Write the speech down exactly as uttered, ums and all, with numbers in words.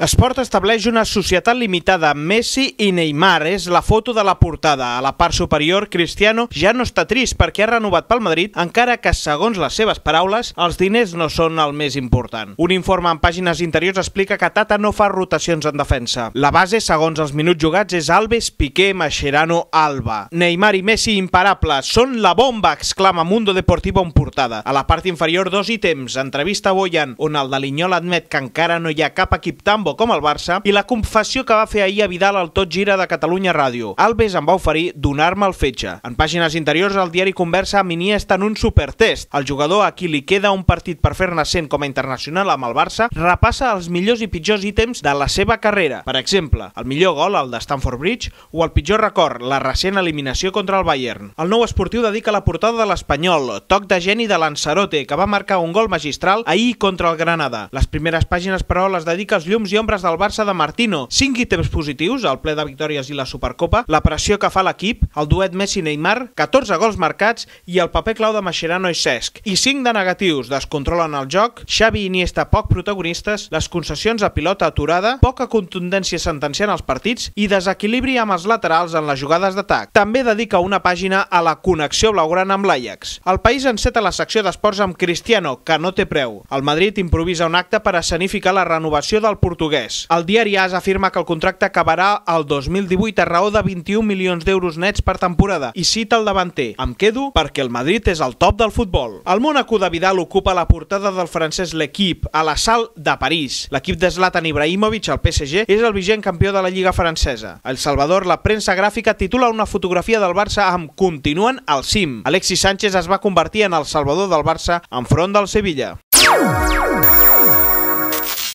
Esport estableix una societat limitada amb Messi i Neymar. És la foto de la portada. A la part superior, Cristiano ja no està trist perquè ha renovat pel Madrid, encara que, segons les seves paraules, els diners no són el més important. Un informe en pàgines interiors explica que Tata no fa rotacions en defensa. La base, segons els minuts jugats, és Alves, Piqué, Mascherano, Alba. Neymar i Messi imparables. Són la bomba, exclama Mundo Deportivo en portada. A la part inferior, dos ítems. Entrevista a Boyan, on el de Linyol admet que encara no hi ha cap equip tan bo com el Barça, i la confessió que va fer ahir a Vidal al Tot Gira de Catalunya Ràdio. Alves em va oferir donar-me el fetge. En pàgines interiors, el diari conversa amb Iniesta en un supertest. El jugador a qui li queda un partit per fer-ne cent com a internacional amb el Barça repassa els millors i pitjors ítems de la seva carrera. Per exemple, el millor gol, el de Stamford Bridge, o el pitjor record, la recent eliminació contra el Bayern. El Nou Esportiu dedica la portada de l'Espanyol, toc de geni de Lanzarote, que va marcar un gol magistral ahir contra el Granada. Les primeres pàgines, però, les dedica als llums i ombres del Barça de Martino. Cinc ítems positius, el ple de victòries i la Supercopa, la pressió que fa l'equip, el duet Messi-Neymar, catorze gols marcats i el paper clau de Mascherano i Cesc. I cinc de negatius, descontrolen el joc, Xavi i Iniesta poc protagonistes, les concessions a pilota aturada, poca contundència sentenciant els partits i desequilibri amb els laterals en les jugades d'atac. També dedica una pàgina a la connexió blaugrana amb l'Ajax. El País enceta la secció d'esports amb Cristiano, que no té preu. El Madrid improvisa un acte per escenificar la renovació del portuguès. El diari A S afirma que el contracte acabarà el dos mil divuit a raó de vint-i-un milions d'euros nets per temporada i cita el davanter: "Em quedo perquè el Madrid és el top del futbol". El Mónaco de Vidal ocupa la portada del francès L'Equipe a la Salle de París. L'equip de Zlatan Ibrahimovic, el P S G, és el vigent campió de la Lliga francesa. A El Salvador, la premsa gràfica titula una fotografia del Barça amb "Continuen al cim". Alexis Sánchez es va convertir en el salvador del Barça enfront del Sevilla.